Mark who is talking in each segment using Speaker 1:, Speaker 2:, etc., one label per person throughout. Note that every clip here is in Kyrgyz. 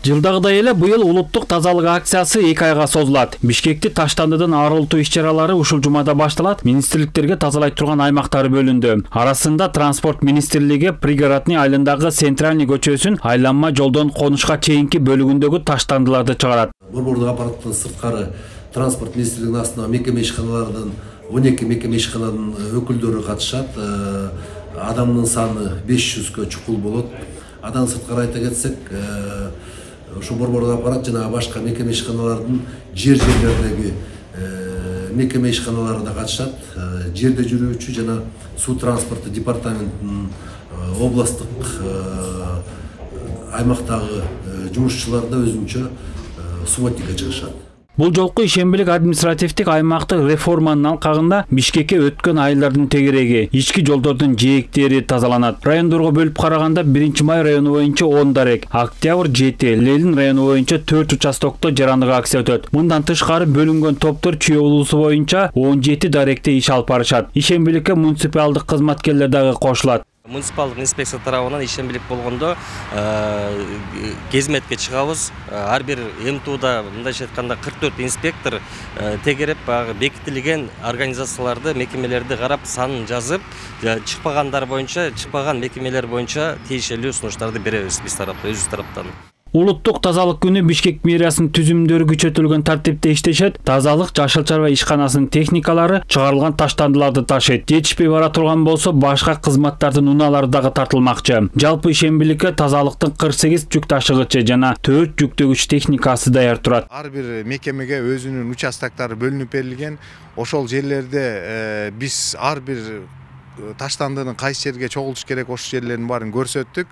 Speaker 1: Жылдагыдай эле быйыл улуттук тазалык акциясы 2 айга созулат. Бишкекти таштандыдан арылтуу иш-чаралары ушул жумада башталат. Министрликтерге тазалай турган аймактары бөлүндү. Арасында транспорт министрлиги пригородный айылындагы Центральный көчөсүн айланма жолдон конушка чейинки бөлүгүндөгү таштандыларды чыгарат.
Speaker 2: Борбордук аппараттын сырткары транспорт министрлигинин астына мекеме ишканалардан 12 мекеме ишкананын өкүлдөрү катышат. Адамдын саны 500гө чукул болот. Адан сырткары айта кетсек, ошо борбордук аппарат жана башка мекеме ишканалардын жерлердеги мекеме ишканалары да катышат. Жерде жүрүүчү жана суу транспорту департаментинин областтык аймактагы жумушчулар да өзүнчө субботникке чыгышат.
Speaker 1: Бул жолку ишембилик административдик аймактык реформанын алкагында Бишкекке өткөн айылдардын тегереги, ички жолдордун жээктери тазаланат. Райондорго бөлүп караганда 1-май району боюнча 10 дарек, Октябрь 7, Ленин району боюнча 4 участокто жарандык акция өтөт. Мындан тышкары бөлүнгөн топтор Чүй облусу боюнча 17 даректе иш алып барышат. Ишембиликке муниципалдык кызматкерлер дагы кошулат.
Speaker 3: Муниципалдык инспекция тарабынан ишембилик болгондо кезметке чыгабыз. Ар бир МТУда мындайча айтканда 44 инспектор тегереп бекитилген организацияларды, мекемелерди карап санын жазып, чыкпагандар боюнча, чыкпаган мекемелер боюнча тийиштүү сунуштарды беребиз биз тараптан, өзүбүз тараптан.
Speaker 1: Улуттук тазалык күнү Бишкек мэриясынын түзүмдөрү күчөтүлгөн тартипте иштешет. Тазалык Жашыл чарба ишканасынын техникалары чыгарылган таштандыларды ташыйт. Жетишпей бара турган болсо башка кызматтардын унаалары дагы тартылмакчы. Жалпы ишембиликке тазалыктын 48 жүк ташыгычы жана 4 жүктөгүч техникасы даяр турат.
Speaker 4: Ар бир мекемеге өзүнүн участоктары бөлүнүп берилген. Ошол жерлерде биз ар бир таштандынын кайсы жерге чогултуш керек ошол жерлердин баарын көрсөттүк.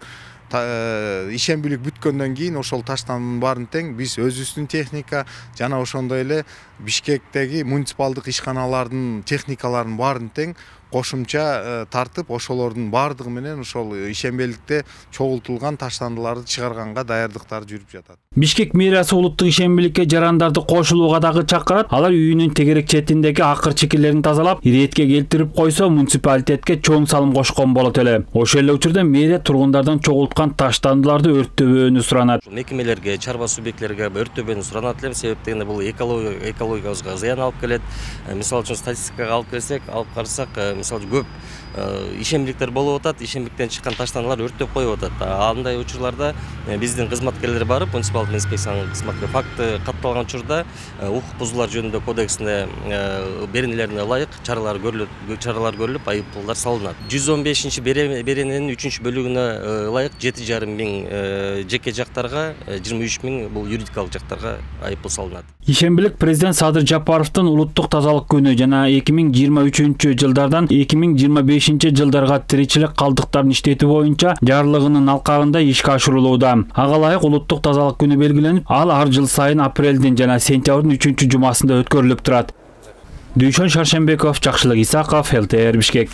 Speaker 4: Ишембилик бүткөндөн кийин ошол таштандын баарын тең биз өзүбүздүн техника жана ошондой эле Бишкектеги муниципалдык ишканалардын техникаларын баарын тең кошумча тартып, ошолордун баардыгы менен ошол ишембиликте чогултулган таштандыларды чыгарганга даярдыктар жүрүп жатат.
Speaker 1: Бишкек мэриясы улуттук ишембиликке жарандарды кошулууга дагы чакырат. Алар үйүнүн тегерек четиндеги акыр чекелерин тазалап, иретке келтирип койсо, муниципалитетке чоң салым кошкон болот эле. Ошол эле учурда мэрия тургундардан чогулткан таштандыларды өрттөбөөнү суранат.
Speaker 3: Мекемелерге, чарба субъектилерге өрттөбөөнү суранат элем, себеп дегенде бул экологиябызга зыян алып келет. Мисалы үчүн статистикага алып келсек, алып карасак, мисалы көп ишембиликтер болуп атат, ишембиликтен чыккан таштандылар өрттөп коюп атат. Андай учурларда биздин кызматкерлер барып, муниципалдык инспекциянын кызматкерлери факты катталган учурда укук бузуулар жөнүндө кодексине беренелерине ылайык чаралар көрүлүп, айыппулдар салынат. 115 берененин 3-бөлүгүнө ылайык 7,5 миң жеке жактарга, 23 миң бул юридикалык жактарга айыппул салынат.
Speaker 1: Ишембилик президент Садыр Жапаровдун улуттук тазалык күнү жана 2023-жылдардан 2025 жылдарга тиричилик калдыктарын иштетүү боюнча жарлыгынын алкагында ишке ашырылууда. Ага ылайык улуттук тазалык күнү белгиленип, ал ар жыл сайын апрелдин жана сентябрдын 3-жумасында өткөрүлүп турат. Дүйшөн Шаршембеков, Жакшылык Исаков, ЛТР Бишкек.